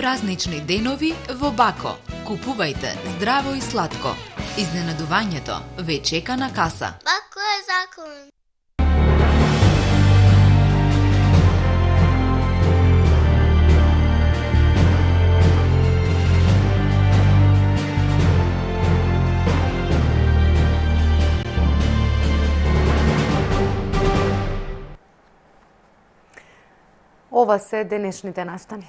празнични денови во Бако. Купувајте здраво и сладко. Изненадувањето ве чека на каса. Бако е закон. Ова се денешните настани.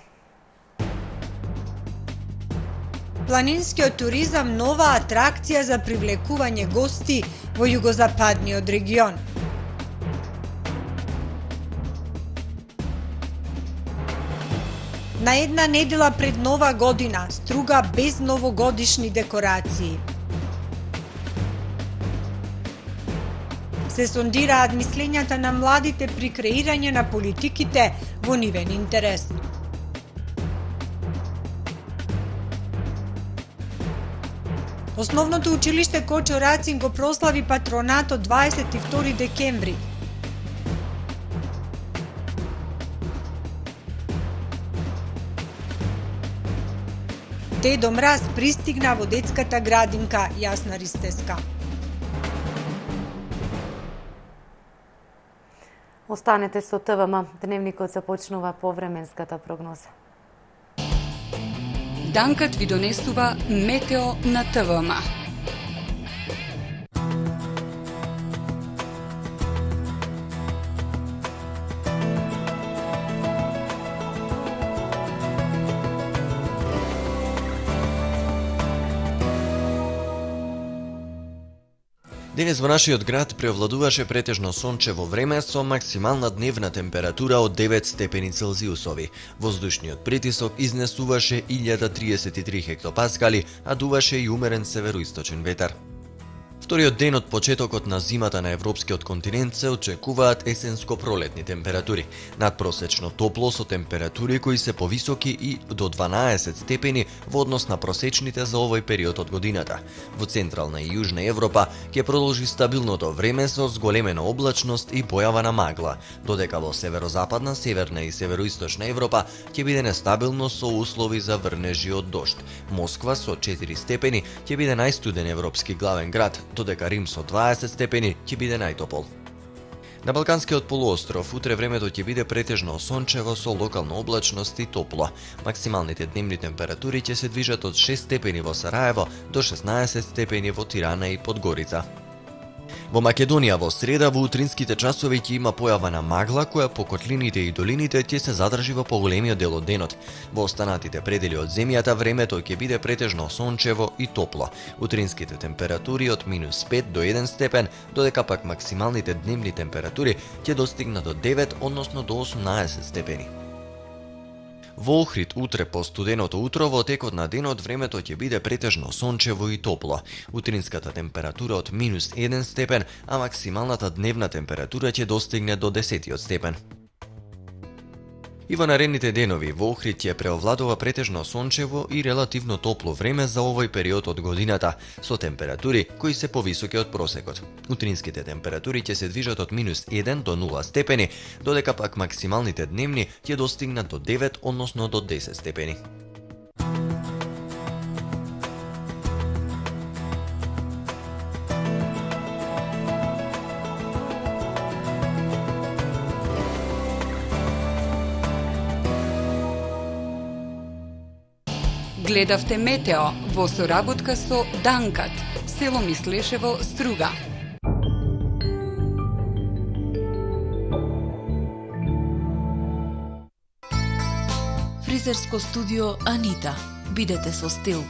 Планинскиот туризам нова атракција за привлекување гости во југозападниот регион. На една недела пред Нова година, Струга без новогодишни декорации. Се сондираат мислењата на младите при креирање на политиките во нивен интерес. Основното училиште Кочо Рацин го прослави патронатот 22 декември. Дедо Мраз пристигна во детската градинка Јасна Ристеска. Останете со ТВМ. Дневникот започнува повременската прогноза. Данкат ви донесува метео на ТВМ. Денес во нашиот град преовладуваше претежно сончево време со максимална дневна температура од 9 степени Целзиусови. Воздушниот притисок изнесуваше 1033 хектопаскали, а дуваше и умерен североисточен ветар. Вториот ден од почетокот на зимата на европскиот континент се очекуваат есенско-пролетни температури. Надпросечно топло со температури кои се повисоки и до 12 степени во однос на просечните за овој период од годината. Во Централна и Јужна Европа ќе продолжи стабилното време со зголемена облачност и појава на магла, додека во северозападна, северна и североисточна Европа ќе биде нестабилно со услови за врнежи од дожд. Москва со 4 степени ќе биде најстуден европски главен град, додека Рим со 20 степени ќе биде најтопол. На Балканскиот полуостров утре времето ќе биде претежно сончево со локална облачност и топло. Максималните дневни температури ќе се движат од 6 степени во Сараево до 16 степени во Тирана и Подгорица. Во Македонија во среда во утринските часови ќе има појава на магла која по котлините и долините ќе се задржи во поголемиот дел од денот. Во останатите предели од земјата времето ќе биде претежно сончево и топло. Утринските температури од -5 до 1 степен, додека пак максималните дневни температури ќе достигнат до 9, односно до 18 степени. Во Охрид утре по студеното утро во текот на денот времето ќе биде претежно сончево и топло. Утринската температура од -1 степен, а максималната дневна температура ќе достигне до 10 степен. И во наредните денови во Охрид ќе преовладува претежно сончево и релативно топло време за овој период од годината, со температури кои се повисоки од просекот. Утринските температури ќе се движат од -1 до 0 степени, додека пак максималните дневни ќе достигнат до 9, односно до 10 степени. Гледавте метео во соработка со Данкат, село Мислешево, Струга. Фризерско студио Анита. Бидете со стил.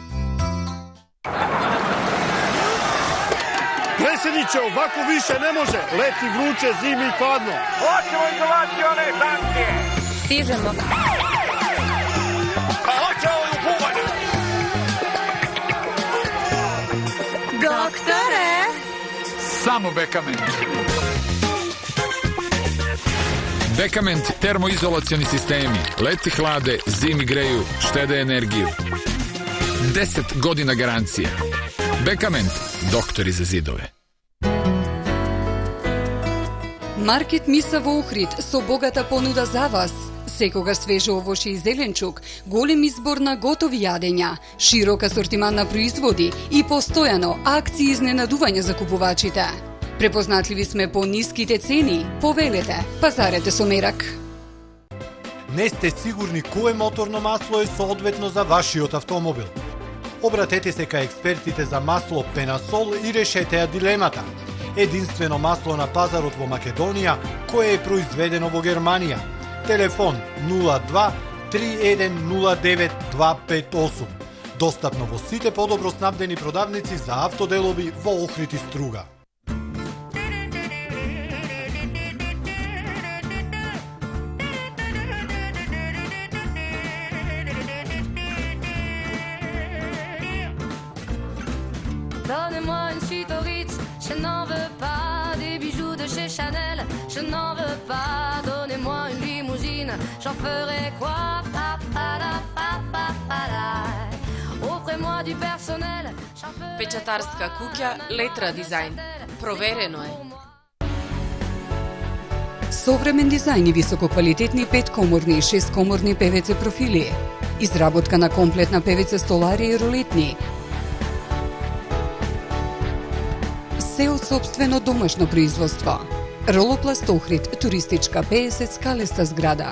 Преседниче, овако више не може. Лети вруче, зими хладно. Hoćemo izolacione sankcije. Stižemo. Доктore! Само Бекамент. Бекамент термоизолациони системи. Лети hlaде, zimi greju, štede energiju. 10 godina garancije. Бекамент. Доктори за зидове. Маркет Миса во Охрид со богата понуда за вас. Секогаш свежо овошје и зеленчук, голем избор на готови јадења, широк асортиман на производи и постојано акции изненадување за купувачите. Препознатливи сме по ниските цени. Повелете, пазарете со мерак. Не сте сигурни кое моторно масло е соодветно за вашиот автомобил? Обратете се кај експертите за масло Пенасол и решете ја дилемата. Единствено масло на пазарот во Македонија кое е произведено во Германија. Телефон 02 3109 258. Достапно во сите подобро снабдени продавници за автоделови во Охрид и Струга. Donnez-moi une suite au Ritz, je n'en veux pas des bijoux de chez Chanel, je n'en veux pas. Donnez-moi une limousine, j'en ferai quoi? Offrez-moi du personnel. Печатарска куќа Летра дизајн. Проверено е. Современ дизајн и висококвалитетни 5-коморни и 6-коморни ПВЦ профили. Изработка на комплетна ПВЦ столари и ролетни. Се од сопствено домашно производство. Ролопласт Охрид, туристичка 50 скалеста зграда.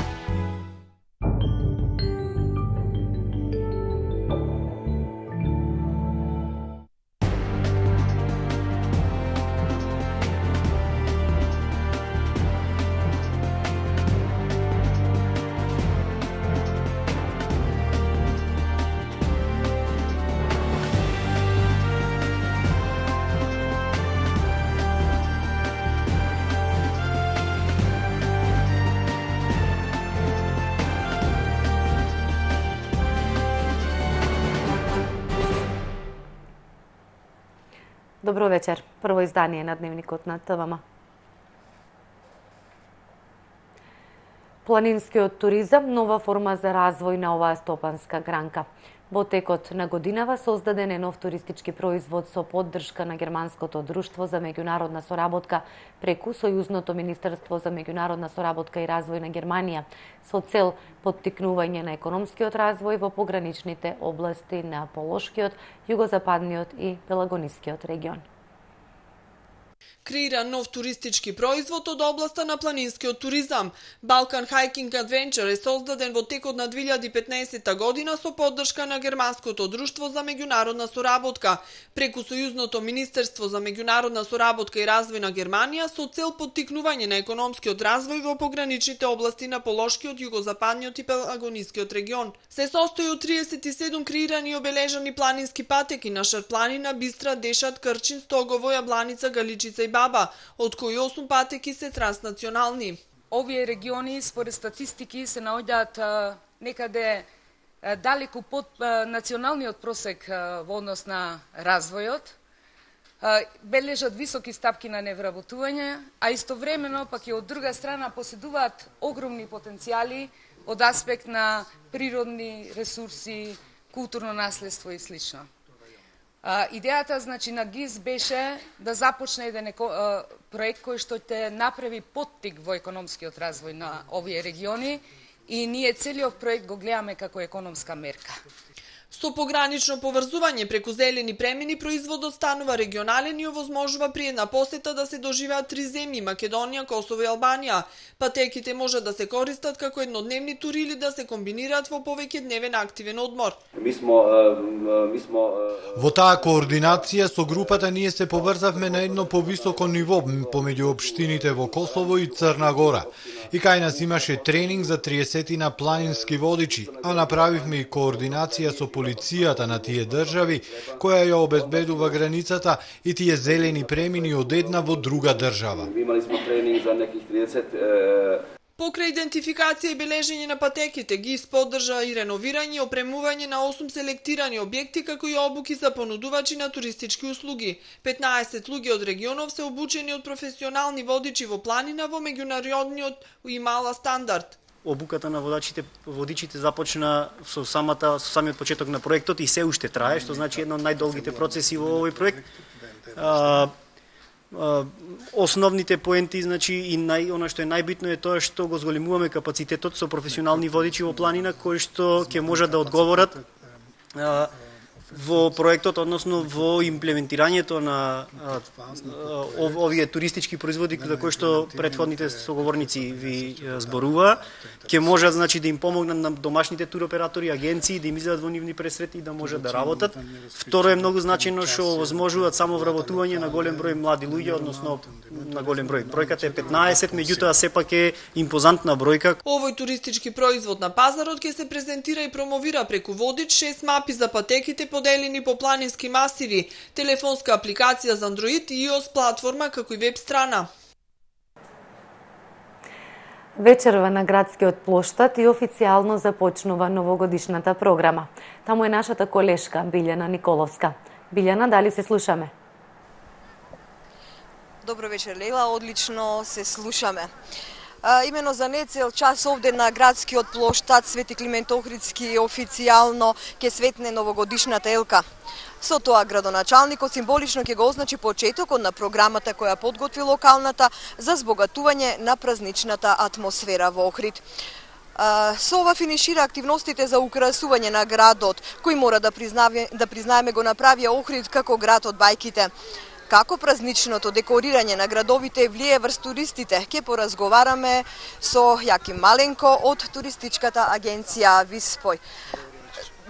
Добро вечер. Прво издание на Дневникот на ТВМ. Планинскиот туризам, нова форма за развој на оваа стопанска гранка. Во текот на годинава создаден е нов туристички производ со поддршка на Германското друштво за меѓународна соработка преку Сојузното министерство за меѓународна соработка и развој на Германија со цел поттикнување на економскиот развој во пограничните области на Полошкиот, југозападниот и Пелагонискиот регион. Креира нов туристички производ од областа на планинскиот туризам. Balkan Hiking Adventure е создаден во текот на 2015 година со поддршка на Германското друштво за меѓународна соработка преку Сојузното министерство за меѓународна соработка и развој на Германија со цел поттикнување на економскиот развој во пограничните области на Полошкиот, југозападниот и Пелагонискиот регион. Се состои од 37 креирани и обележани планински патеки на Шарпланина, Бистра, Дешат, Крчин, Стогово, Јабланица, Галичица и Баба, од кои 8 патеки се транснационални. Овие региони според статистики се наоѓаат некаде далеку под националниот просек во однос на развојот, бележат високи стапки на невработување, а истовремено пак и од друга страна поседуваат огромни потенцијали од аспект на природни ресурси, културно наследство и слично. Идејата значи на ГИС беше да започне еден проект кој што ќе направи поттик во економскиот развој на овие региони и ние целиот проект го гледаме како економска мерка. Со погранично поврзување преку зелени премини производот станува регионален и овозможува при една посета да се доживеат 3 земји – Македонија, Косово и Албанија. Патеките може да се користат како еднодневни тури или да се комбинираат во повеќе дневен активен одмор. Во таа координација со групата ние се поврзавме на едно повисоко ниво помеѓу општините во Косово и Црна Гора. И кај нас имаше тренинг за 30 на планински водичи, а направивме и координација со полицијата на тие држави, која ја обезбедува границата и тие зелени премини од една во друга држава. Имали сме тренинг за неких 30 Покрај идентификација и бележење на патеките, ГИС поддржа и реновирање и опремување на 8 селектирани објекти, како и обуки за понудувачи на туристички услуги. 15 луѓе од регионов се обучени од професионални водичи во планина во меѓународниот и мала стандард. Обуката на водичите започна со самиот почеток на проектот и се уште трае, што значи едно од најдолгите процеси во овој проект. основните поенти, значи и она што е најбитно е тоа што го зголемуваме капацитетот со професионални водичи во планина кои што ќе можат да одговорат во проектот, односно во имплементирањето на овие туристички производи за кои што претходните соговорници ви зборува, ќе можат значи да им помогнат на домашните туроператори, агенции да им излезат во нивни пресрети и да можат да работат. Второ е многу значајно што овозможуваат само вработување на голем број млади луѓе, односно на голем број. Бројката е 15, меѓутоа сепак е импозантна бројка. Овој туристички производ на пазарот ќе се презентира и промовира преку водич, 6 мапи за патеките поделени по планински масиви, телефонска апликација за Android и iOS платформа како и веб страна. Вечерва на градскиот плоштад и официјално започнува новогодишната програма. Таму е нашата колешка Билјана Николовска. Билјана, дали се слушаме? Добро вечер, Лейла, одлично се слушаме. Имено за нецел час овде на градскиот плоштад Свети Климент Охридски официјално ќе светне новогодишната елка. Со тоа градоначалникот символично ќе го означи почетокот на програмата која подготви локалната за збогатување на празничната атмосфера во Охрид. Со ова финишира активностите за украсување на градот, кој мора да признаеме го направија Охрид како град од бајките. Како празничното декорирање на градовите влие врз туристите, ќе поразговараме со Јаким Маленко од туристичката агенција Виспој.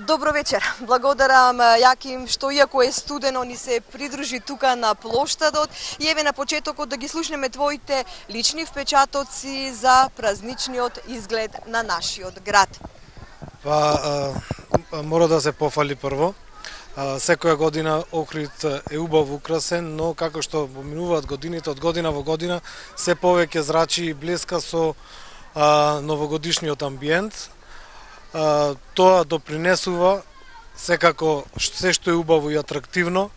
Добро вечер. Благодарам Јаким што иако е студено ни се придружи тука на плоштадот и еве на почетокот да ги слушнеме твоите лични впечатоци за празничниот изглед на нашиот град. Мора да се пофали прво. Секоја година Охрид е убаво украсен, но како што поминуваат годините, од година во година се повеќе зрачи и блеска со новогодишниот амбиент. Тоа допринесува секако се што е убаво и атрактивно,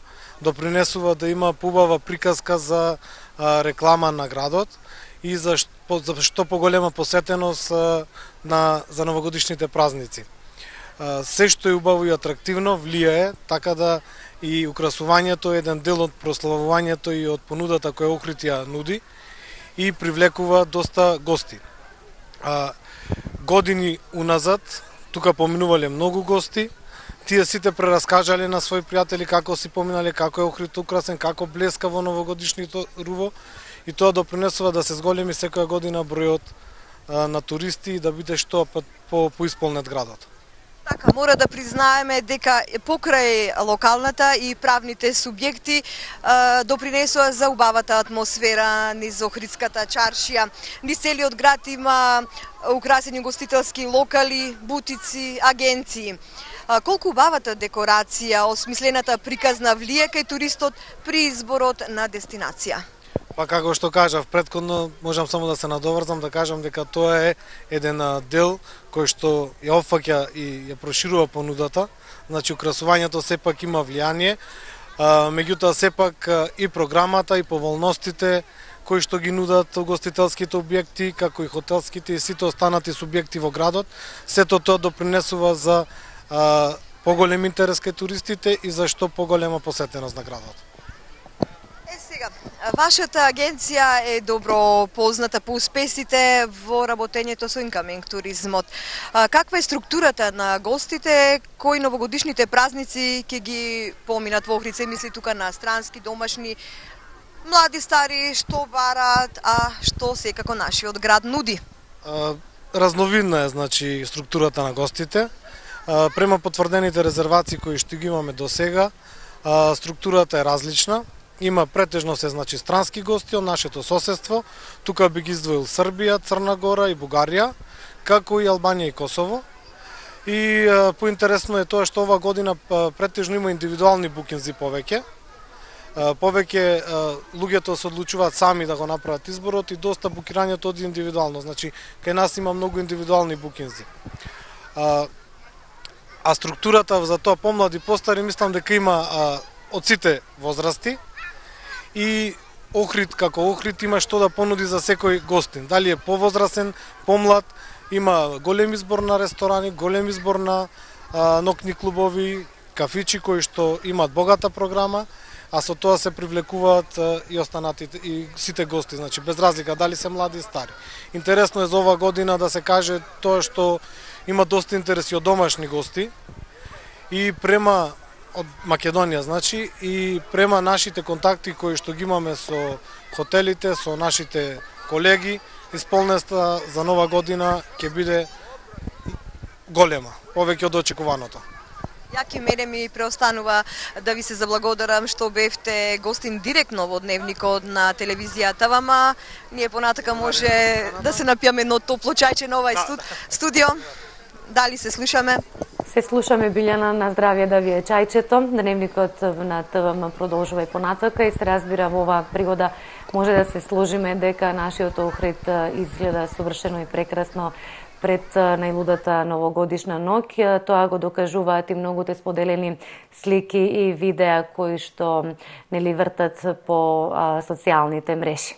допринесува да има поубава приказка за реклама на градот и за што поголема посетеност за новогодишните празници. Се што е убаво и атрактивно влијае, така да и украсувањето е еден дел од прославувањето и од понудата која Охрид ја нуди и привлекува доста гости. Години уназад, тука поминувале многу гости, тие сите прераскажале на своји пријатели како си поминале, како е Охрид украсен, како блеска во новогодишното руво и тоа допринесува да се зголеми секоја година бројот на туристи и да биде што поисполнет градот. Така, мора да признаеме дека покрај локалната и правните субјекти допринесува за убавата атмосфера низ Охридската чаршија. Низ целиот град има украсени гостителски локали, бутици, агенции. Колку убавата декорација, осмислената приказна влие кај туристот при изборот на дестинација? Па како што кажав претходно, можам само да се надоврзам да кажам дека тоа е еден дел кој што ја опфаќа и ја проширува понудата. Значи украсувањето сепак има влијание, меѓутоа сепак и програмата и поволностите кои што ги нудат угостителските објекти, како и хотелските и сите останати субјекти во градот, сето тоа допринесува за поголем интерес кај туристите и за што поголема посетеност на градот. Вашата агенција е добро позната по успесите во работењето со инкаминг туризмот. Каква е структурата на гостите кои новогодишните празници ќе ги поминат во Охрид? Се мисли тука на странски, домашни, млади, стари, што барат, а што секако нашиот град нуди? Разновидна е значи структурата на гостите. Према потврдените резервации кои што ги имаме до сега, структурата е различна. Има претежно се значи странски гости од нашето соседство. Тука би ги издвоил Србија, Црна Гора и Бугарија, како и Албанија и Косово. И поинтересно е тоа што ова година претежно има индивидуални букинзи повеќе. Повеќе луѓето се одлучуваат сами да го направат изборот и доста букирањето оди индивидуално. Значи кај нас има многу индивидуални букинзи. А структурата за тоа помлади постари мислам дека има од сите возрасти. И Охрид како Охрид има што да понуди за секој гостин. Дали е повозрасен, помлад, има голем избор на ресторани, голем избор на ноќни клубови, кафичи кои што имаат богата програма, а со тоа се привлекуваат и останатите и сите гости, значи без разлика дали се млади и стари. Интересно е за ова година да се каже тоа што има доста интереси од домашни гости и према од Македонија, значи, и према нашите контакти кои што ги имаме со хотелите, со нашите колеги, исполнеста за нова година ќе биде голема, повеќе од очекуваното. Јаки мене ми преостанува да ви се заблагодарам што бевте гостин директно во дневникот на телевизијата, вама ние понатака може да се напијаме едно топло чајче на овај студио. Дали се слушаме? Се слушаме, Билјана, на здравје да ви е чајчето. Дневникот на ТВМ продолжува и понатака и се разбира во оваа пригода може да се сложиме дека нашиот Охрид изгледа совршено и прекрасно пред најлудата новогодишна ноќ. Тоа го докажуваат и многуте споделени слики и видеа кои што нели вртат по социјалните мрежи.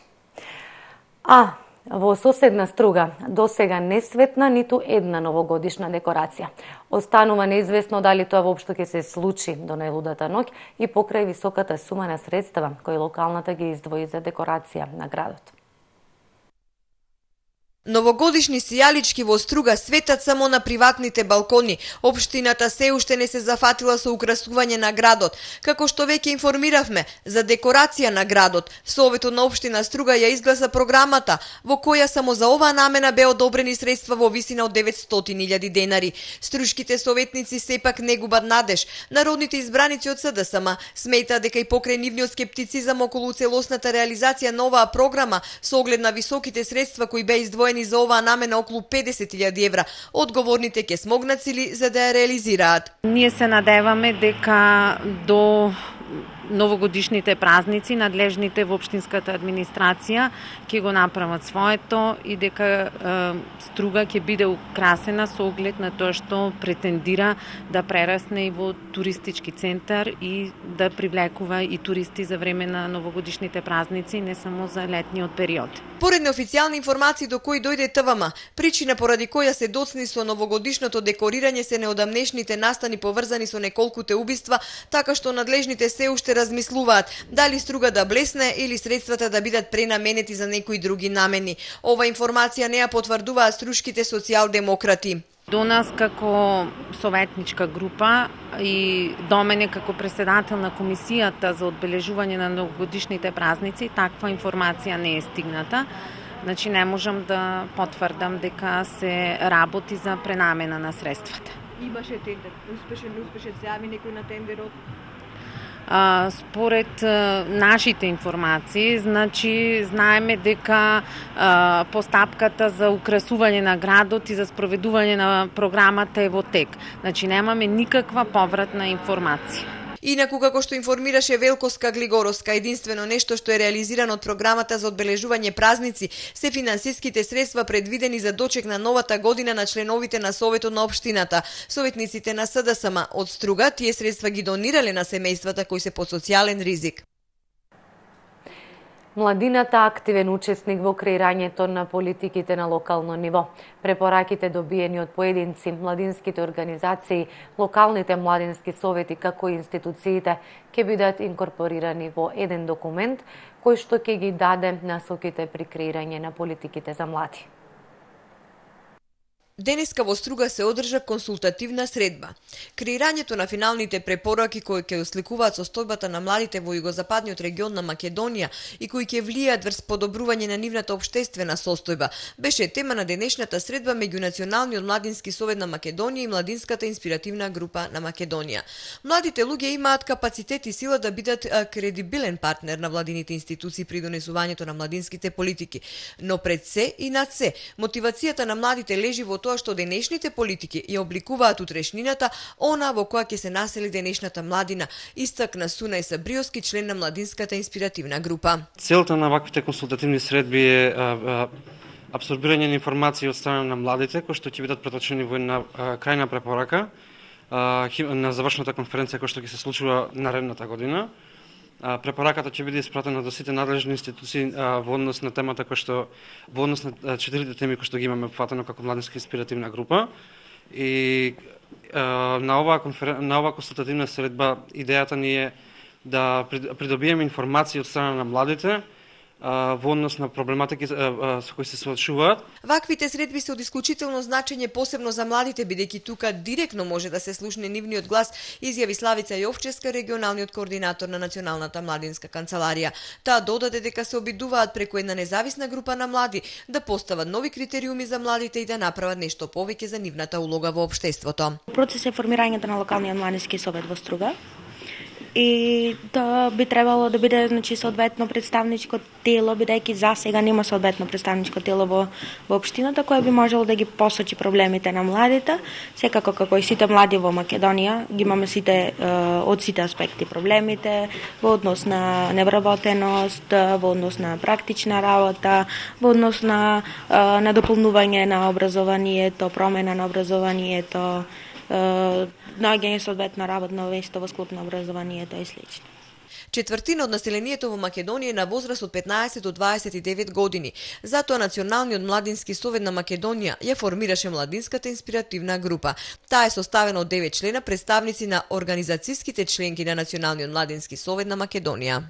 Во соседна Струга досега не светна ниту една новогодишна декорација. Останува неизвестно дали тоа воопшто ќе се случи до најлудата ноќ и покрај високата сума на средства кои локалната ги издвои за декорација на градот. Новогодишни сијалички во Струга светат само на приватните балкони. Општината се уште не се зафатила со украсување на градот. Како што веќе информиравме, за декорација на градот, Советот на општина Струга ја изгласа програмата, во која само за оваа намена бе одобрени средства во висина од 900.000 денари. Струшките советници сепак не губат надеж. Народните избраници од СДСМ сметаат дека и покрај нивниот скептицизам околу целосната реализација на оваа програма, со оглед на високите средства кои беа издвоени за оваа намена околу 50.000 евра, одговорните ќе смогнат сили за да ја реализираат. Ние се надеваме дека до новогодишните празници надлежните во општинската администрација ќе го направат своето и дека Струга ќе биде украсена со оглед на тоа што претендира да прерасне и во туристички центар и да привлекува и туристи за време на новогодишните празници, не само за летниот период. Поред неофицијални информации до кои дојде ТВМ, причина поради која се доцни со новогодишното декорирање се неодамнешните настани поврзани со неколкуте убиства, така што надлежните се уште размислуваат дали Струга да блесне или средствата да бидат пренаменети за некои други намени. Ова информација не ја потврдуваат струшките социјалдемократи. До нас како советничка група и до мене како председател на комисијата за одбележување на новогодишните празници, таква информација не е стигната. Значи не можам да потврдам дека се работи за пренамена на средствата. Имаше тендер, успешен се јави некој на тендерот? Според нашите информации, значи знаеме дека постапката за украсување на градот и за спроведување на програмата е во тек. Значи немаме никаква повратна информација. Инаку, како што информираше Велко Скаглигоровска, единствено нешто што е реализирано од програмата за одбележување празници се финансиските средства предвидени за дочек на новата година на членовите на Советот на општината. Советниците на СДСМ од Струга тие средства ги донирале на семејствата кои се под социјален ризик. Младината активен учесник во креирањето на политиките на локално ниво. Препораките добиени од поединци, младинските организации, локалните младински совети како и институциите ќе бидат инкорпорирани во еден документ кој што ќе ги даде насоките при креирање на политиките за млади. Денеска во Струга се одржа консултативна средба. Креирањето на финалните препораки кои ќе осликуваат состојбата на младите во југозападниот регион на Македонија и кои ќе влијаат врз подобрување на нивната општествена состојба, беше тема на денешната средба меѓу Националниот младински совет на Македонија и Младинската инспиративна група на Македонија. Младите луѓе имаат капацитет и сила да бидат кредибилен партнер на владините институции при донесувањето на младинските политики, но пред се и над се, мотивацијата на младите лежи во тоа што денешните политики ја обликуваат утрешнината, она во која ќе се насели денешната младина, истакна Сунај Сабриовски, член на Младинската инспиративна група. Целта на ваквите консултативни средби е апсорбирање на информации од страна на младите, кои што ќе бидат преточени во една крајна препорака на завршната конференција која што ќе се случува наредната година. Препораката ќе биде испратена до сите надлежни институции во однос на темата која што во однос на 4 теми кои што ги имаме опфатено како Младинска инспиративна група и на оваа консултативна средба идејата ни е да придобиеме информации од страна на младите во однос на проблематики со кои се соочуваат. Ваквите средби се од исклучително значење посебно за младите, бидејќи тука директно може да се слушне нивниот глас, изјави Славица Јовчевска, регионалниот координатор на Националната младинска канцеларија. Таа додаде дека се обидуваат преку една независна група на млади да постават нови критериуми за младите и да направат нешто повеќе за нивната улога во општеството. Процес е формирањето на локалниот младински совет во Струга. И тоа би требало да биде соодветно представничко тело, бидејќи за сега нема соодветно представничко тело во општината кое би можело да ги посочи проблемите на младите. Секако како и сите млади во Македонија ги имаме од сите аспекти проблемите во однос на невработеност, во однос на практична работа, во однос на дополнување на образованието, промена на образованието, наоѓање соодветно работно место во склоп на образованието и слично. Четвртина од населението во Македонија е на возраст од 15 до 29 години. Затоа Националниот младински совет на Македонија ја формираше младинската инспиративна група. Таа е составена од 9 члена, представници на организацијските членки на Националниот младински совет на Македонија.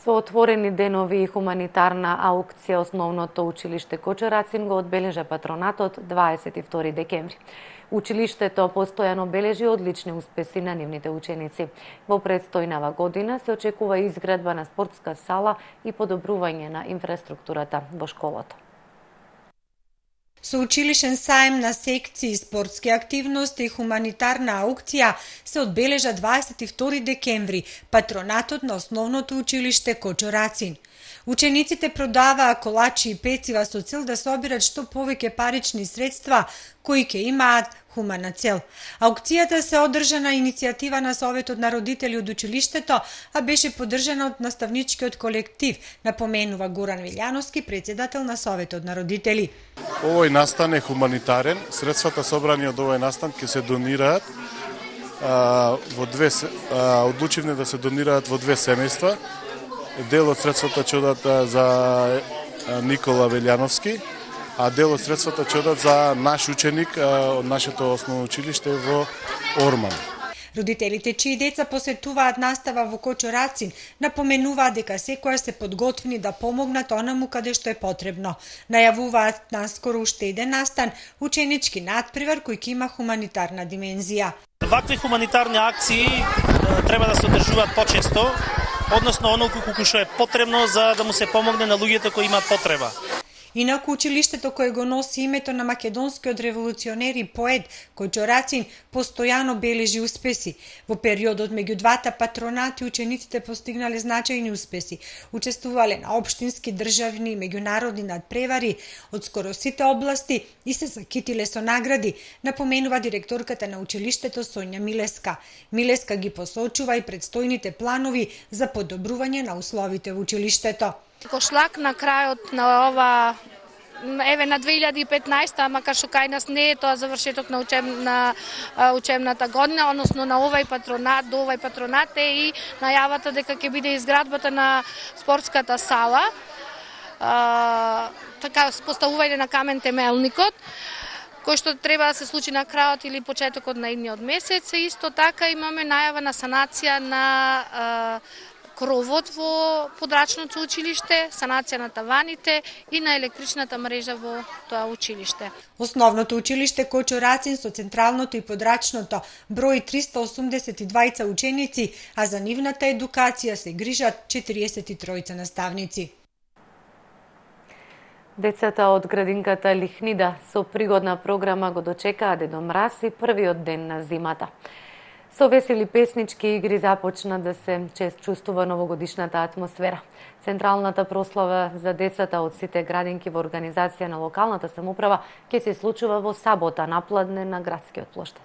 Со отворени денови и хуманитарна аукција основното училиште Кочурацин го одбележа патронатот 22 декември. Училиштето постојано бележи одлични успеси на нивните ученици. Во предстојнава година се очекува изградба на спортска сала и подобрување на инфраструктурата во школата. Соучилишен саем на секции, спортски активности и хуманитарна аукција се одбележа 22 декември, патронатот на основното училиште Кочурацин. Учениците продаваа колачи и пецива со цел да собират што повеќе парични средства кои ќе имаат хумана цел. Аукцијата се одржа на иницијатива на Советот на родители од училиштето, а беше поддржана од наставничкиот колектив, напоменува Горан Вилјановски, председател на Советот на родители. Овој настан е хуманитарен. Средствата собрани од овој настан ќе се донираат одлучивме да се донираат во две семејства. Дел од средствата ќе одат за Никола Велјановски, а дел од средствата ќе одат за наш ученик од нашето основно училиште во Орман. Родителите чии деца посетуваат настава во Кочурацин напоменуваат дека секоја се подготвени да помогнат онаму каде што е потребно. Најавуваат наскоро уште еден настан, ученички надпревар кој ќе има хуманитарна димензија. Вакви хуманитарни акции треба да се одржуваат почесто, односно онолку колку што е потребно за да му се помогне на луѓето кои имаат потреба. Инаку училиштето кое го носи името на македонскиот револуционер и поет Кочурацин постојано бележи успеси. Во периодот меѓу двата патронати учениците постигнале значајни успеси. Учествувале на општински, државни и меѓународни надпревари од скоро сите области и се закитиле со награди, напоменува директорката на училиштето Сонја Милеска. Милеска ги посочува и предстојните планови за подобрување на условите во училиштето. Кошлак на крајот на ова на 2015, макар што кај нас не е тоа завршеток на учебната година, односно на овај патронат, до овај патронат е и најавата дека ќе биде изградбата на спортската сала, така поставување на камен темелникот, кој што треба да се случи на крајот или почетокот на идниот месец. Исто така имаме најава на санација на кровот во подрачното училиште, санација на таваните и на електричната мрежа во тоа училиште. Основното училиште Кочурацин со централното и подрачното брои 382 ученици, а за нивната едукација се грижат 43 наставници. Децата од градинката Лихнида со пригодна програма го дочекаа Дедо Мраз и првиот ден на зимата. Со весели песнички игри започна да се чувствува новогодишната атмосфера. Централната прослава за децата од сите градинки во организација на локалната самоуправа ќе се случува во сабота напладне на градскиот плоштад.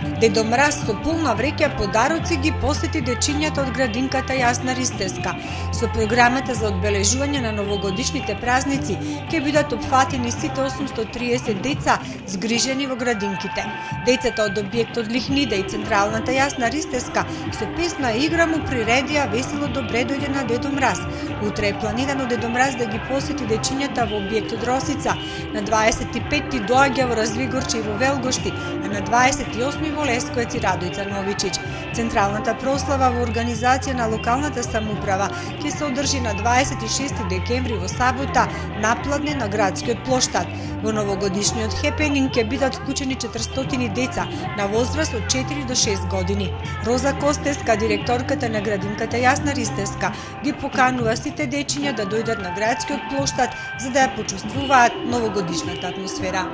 Дедо Мраз со полна вреќа подароци ги посети дечињата од градинката Јасна Ристевска. Со програмата за одбележување на новогодишните празници ќе бидат опфатени сите 830 деца згрижени во градинките. Децата од објектот Лихнида и Централната Јасна Ристевска со песна и игра му приредија весело добре дојде на Дедо Мраз. Утре е планирано Дедо Мраз да ги посети дечињата во објектот Росица. На 25 доаѓа во Развигорче и во Велгошти, а на 28 во Лесковец и Радојца Новичич. Централната прослава во организација на локалната самоуправа ќе се одржи на 26 декември во сабота на Пладне на градскиот плоштад. Во новогодишниот хепенинг ќе бидат вклучени 400 деца на возраст од 4 до 6 години. Роза Костеска, директорката на градинката Јасна Ристевска, ги поканува сите дечиња да дојдат на градскиот плоштад за да ја почувствуваат новогодишната атмосфера.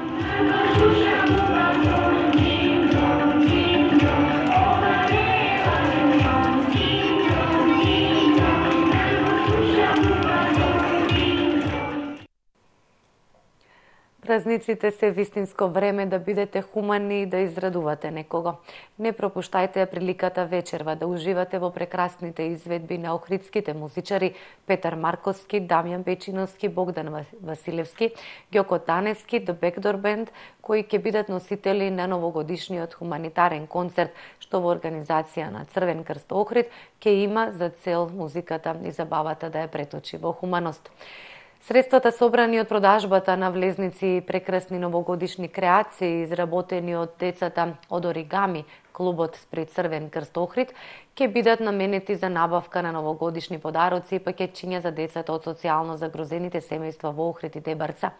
Празниците се вистинско време да бидете хумани и да израдувате некого. Не пропуштајте приликата вечерва да уживате во прекрасните изведби на охридските музичари Петар Марковски, Дамјан Печиновски, Богдан Василевски, Ѓоко Таневски, The Backdoor Band, кои ќе бидат носители на новогодишниот хуманитарен концерт, што во организација на Црвен крст Охрид ќе има за цел музиката и забавата да ја преточи во хуманост. Средствата собрани од продажбата на влезници и прекрасни новогодишни креации, изработени од децата од Оригами, клубот при Црвен крст Охрид, ќе бидат наменети за набавка на новогодишни подароци и пакетчиња за децата од социјално загрозените семејства во Охрид и Дебарца.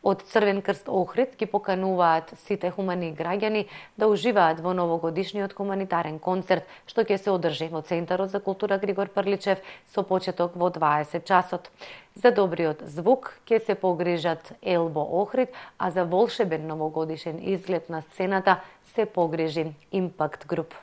Од Црвен крст Охрид ги покануваат сите хумани граѓани да уживаат во новогодишниот хуманитарен концерт, што ќе се одржи во Центарот за култура Григор Прличев со почеток во 20 часот. За добриот звук ќе се погрижат Елбо Охрид, а за волшебен новогодишен изглед на сцената се погрижи Импакт Груп.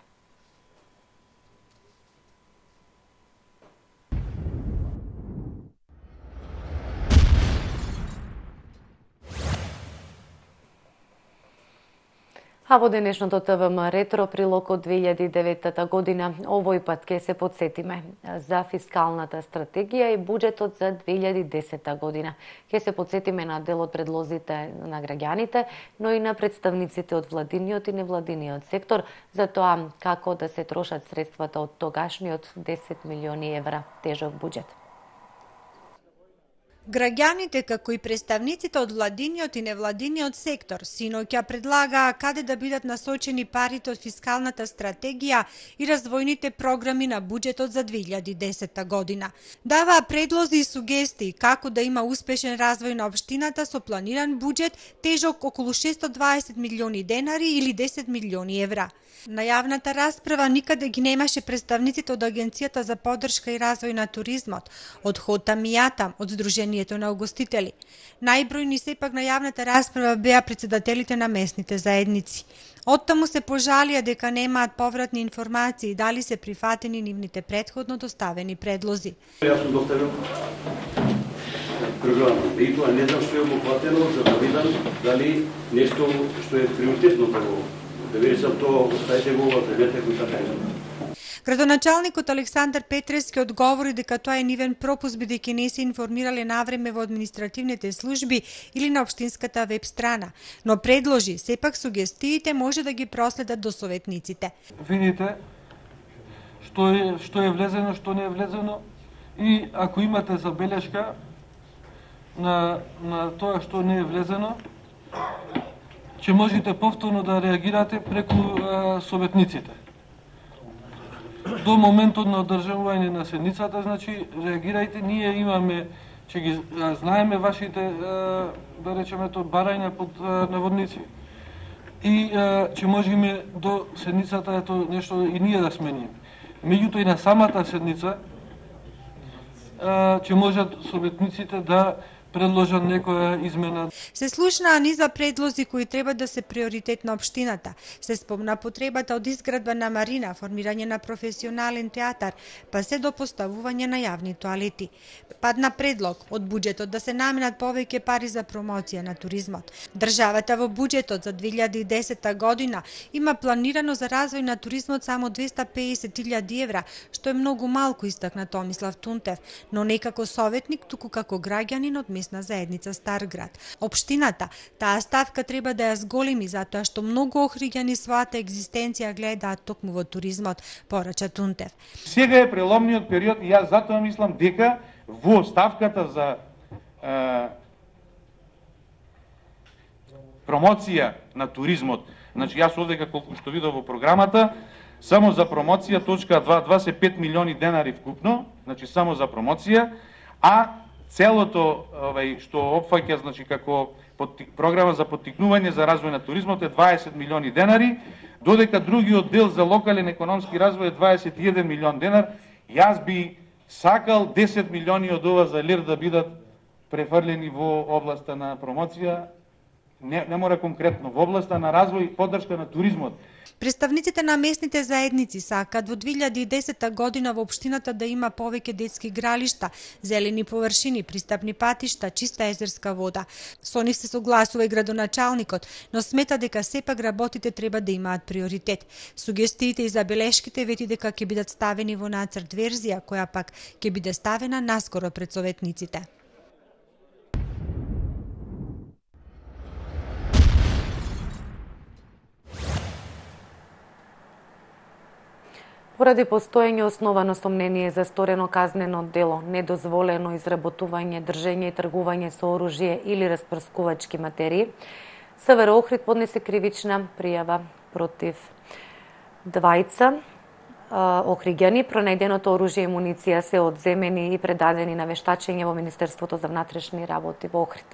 А во денешното ТВМ ретро прилог од 2009 година, овој пат ќе се подсетиме за фискалната стратегија и буџетот за 2010 година. Ќе се подсетиме на дел од предлозите на граѓаните, но и на представниците од владиниот и невладиниот сектор за тоа како да се трошат средствата од тогашниот 10 милиони евра тежок буџет. Граѓаните, како и представниците од владиниот и невладиниот сектор, синоќа предлагаа каде да бидат насочени парите од фискалната стратегија и развојните програми на буџетот за 2010 година. Даваа предлози и сугестии како да има успешен развој на општината со планиран буџет тежок околу 620 милиони денари или 10 милиони евра. На јавната расправа никаде ги немаше представниците од Агенцијата за поддршка и развој на туризмот, од Хотам и Јатам, од Сдруженијето на угостители. Најбројни сепак на јавната расправа беа председателите на местните заедници. Оттаму се пожалија дека немаат повратни информации дали се прифатени нивните претходно доставени предлози. Јас сум доставил програма и тоа не знам што е обхватено за да видам дали нешто што е приоритетно да видам тоа оставите го во предмете кои така е. Градоначалникот Александар Петрески одговори дека тоа е нивен пропуст бидејќи не се информирале навреме во административните служби или на општинската веб страна, но предложи сепак сугестиите може да ги проследат до советниците. Видите што е влезено, што не е влезено и ако имате забелешка на тоа што не е влезено, ќе можете повторно да реагирате преку советниците. До моментот на одржување на седницата, значи, реагирајте, ние имаме, ќе ги знаеме вашите, да речеме тоа, барања под наводници и ќе можеме до седницата ето нешто и ние да смениме. Меѓутоа и на самата седница ќе можат советниците да предложат некоја измена. Се слушнаа низа предлози кои треба да се приоритет на општината. Се спомна потребата од изградба на марина, формирање на професионален театар, па се до поставување на јавни тоалети. Падна предлог од буџетот да се наменат повеќе пари за промоција на туризмот. Државата во буџетот за 2010 година има планирано за развој на туризмот само 250.000 евра, што е многу малку, истакна Томислав Тунтев, но не како советник, туку како граѓанин од местна заедница Старград. Општината таа ставка треба да ја зголеми затоа што многу охриѓани својата екзистенција гледаат токму во туризмот, порача Тунтев. Сега е преломниот период и јас затоа мислам дека во ставката за промоција на туризмот, значи јас овдека колку што видов во програмата, само за промоција точка 2.2 се 5 милиони денари вкупно, значи само за промоција, а целото што опфаќа, значи како програма за поттикнување за развој на туризмот е 20 милиони денари, додека другиот дел за локален економски развој е 21 милион денар. Јас би сакал 10 милиони од ова за лир да бидат префрлени во областа на промоција, не мора конкретно, во областа на развој и поддршка на туризмот. Представниците на местните заедници сакаат во 2010 година во општината да има повеќе детски игралишта, зелени површини, пристапни патишта, чиста езерска вода. Со нив се согласува и градоначалникот, но смета дека сепак работите треба да имаат приоритет. Сугестиите и забелешките вети дека ќе бидат ставени во нацрт верзија, која пак ќе биде ставена наскоро пред советниците. Поради постоење основано сомнение за сторено казнено дело, недозволено изработување, држење и тргување со оружје или распрскувачки материи, СВР Охрид поднесе кривична пријава против двајца охриѓани. Пронајденото оружје и муниција се одземени и предадени на вештачење во Министерството за внатрешни работи во Охрид.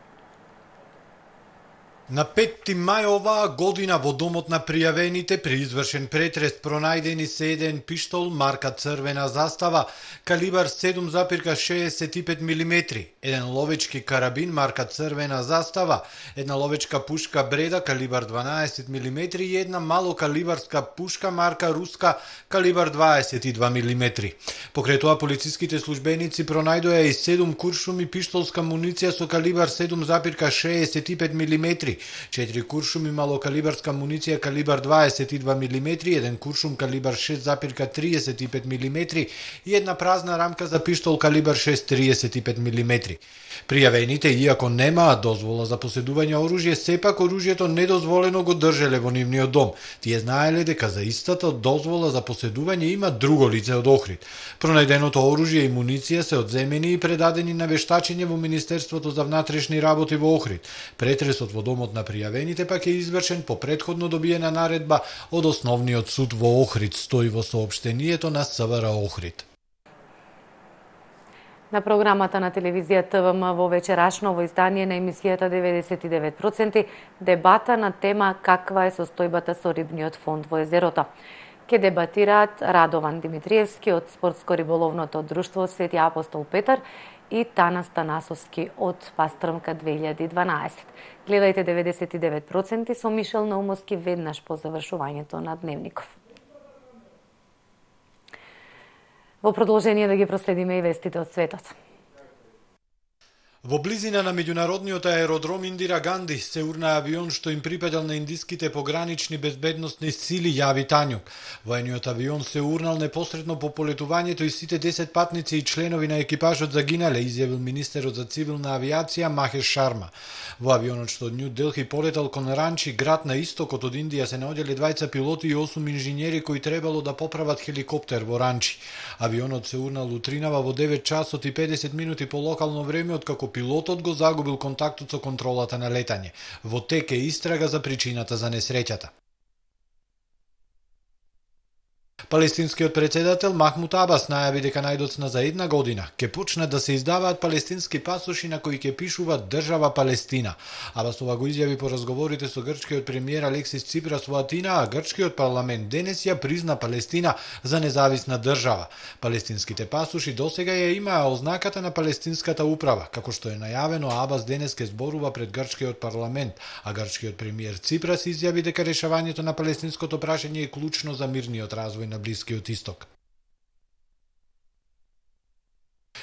На 5 мај оваа година во домот на пријавените при извршен претрес пронајдени се еден пиштол марка црвена застава, калибар 7,65 мм, еден ловечки карабин марка црвена застава, една ловечка пушка бреда калибар 12 мм и една малокалибарска пушка марка руска калибар 22 мм. Покрај тоа полициските службеници пронајдоа и 7 куршуми пиштолска муниција со калибар 7,65 мм, 4 куршуми малокалибарска муниција калибар 22 мм, еден куршум калибар 6,35 мм и една празна рамка за пиштол калибар 6,35 мм. Пријавените, иако немаат дозвола за поседување оружје, сепак оружјето недозволено го држеле во нивниот дом. Тие знаеле дека за истата дозвола за поседување има друго лице од Охрид. Пронајденото оружје и муниција се одземени и предадени на вештачење во Министерството за внатрешни работи во Охрид. Претресот во домот на пријавените пак е извршен по претходно добиена наредба од Основниот суд во Охрид, стои во соопштението на СВР Охрид. На програмата на телевизија ТВМ во вечерашново издание на емисијата 99% дебата на тема каква е состојбата со рибниот фонд во езерото. Ке дебатираат Радован Димитриевски од Спортско-риболовното друштво Свети Апостол Петар и Танас Танасовски од Пастрмка 2012. Гледајте 99% со Мишел Наумовски веднаш по завршувањето на Дневников. Во продолжение да ги проследиме и вестите од светот. Во близина на меѓународниот аеродром Индира Ганди се урна авион што им припадал на индиските погранични безбедносни сили, јави Тањук. Воениот авион се урнал непосредно по полетувањето и сите 10 патници и членови на екипажот загинале, изјавил министерот за цивилна авиација Махеш Шарма. Во авионот што од Нју Делхи полетал кон Ранчи, град на истокот од Индија, се наоѓале 2 пилоти и 8 инженери кои требало да поправат хеликоптер во Ранчи. Авионот се урнал утринава во 9 часот и 50 минути по локално време, откако пилотот го загубил контактот со контролата на летање. Во тек е истрага за причината за несреќата. Палестинскиот председател Махмуд Абас најави дека најдоцна за една година ќе почнат да се издаваат палестински пасоши на кои ќе пишуваат држава Палестина. Абас ова го изјави по разговорите со грчкиот премиер Алексис Ципрас во Атина, а грчкиот парламент денес ја призна Палестина за независна држава. Палестинските пасоши досега ја имаа ознаката на палестинската управа, како што е најавено. Абас денес ќе зборува пред грчкиот парламент, а грчкиот премиер Ципрас изјави дека решавањето на палестинското прашање е клучно за мирниот развој на Блискиот исток.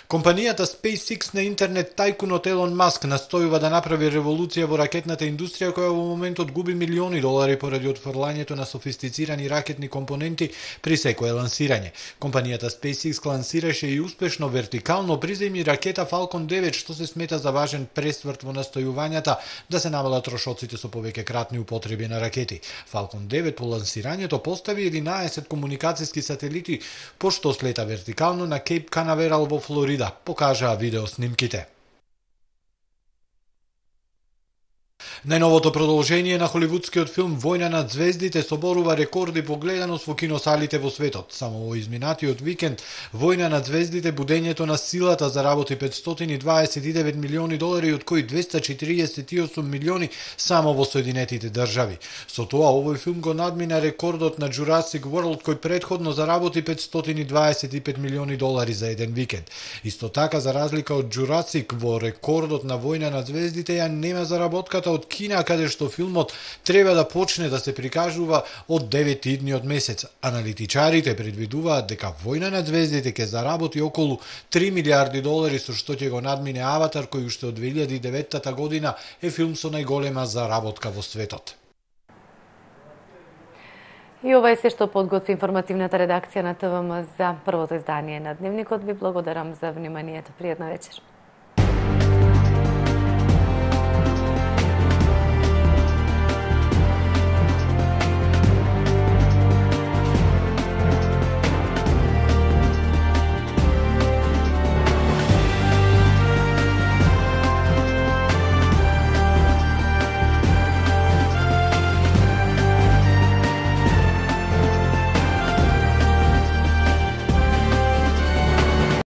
Компанијата SpaceX на интернет тајкунот Елон Маск настојува да направи револуција во ракетната индустрија која во моментот губи милиони долари поради отфрлањето на софистицирани ракетни компоненти при секое лансирање. Компанијата SpaceX лансираше и успешно вертикално приземји ракета Falcon 9, што се смета за важен пресврт во настојувањата да се намалат трошоците со повеќе кратни употреби на ракети. Falcon 9 по лансирањето постави 11 комуникацијски сателити, пошто слета вертикално на Кейп Канаверал во Флорида, покажаа видеоснимките. Најновото продолжение на холивудскиот филм Војна над звездите соборува рекорди по гледаност во киносалите во светот. Само во изминатиот викенд Војна над звездите будењето на силата заработи 529 милиони долари, од кои 248 милиони само во Соединетите држави. Со тоа овој филм го надмина рекордот на Jurassic World, кој претходно заработи 525 милиони долари за еден викенд. Исто така, за разлика од Jurassic, во рекордот на Војна над звездите ја нема заработката од Кина, каде што филмот треба да почне да се прикажува од 9 идниот месец. Аналитичарите предвидуваат дека Војна над звездите ќе заработи околу 3 милиарди долари, со што ќе го надмине Аватар, кој уште од 2009 година е филм со најголема заработка во светот. И ова е се што подготви информативната редакција на ТВМ за првото издание на Дневникот. Ви благодарам за вниманието. Пријатна вечер.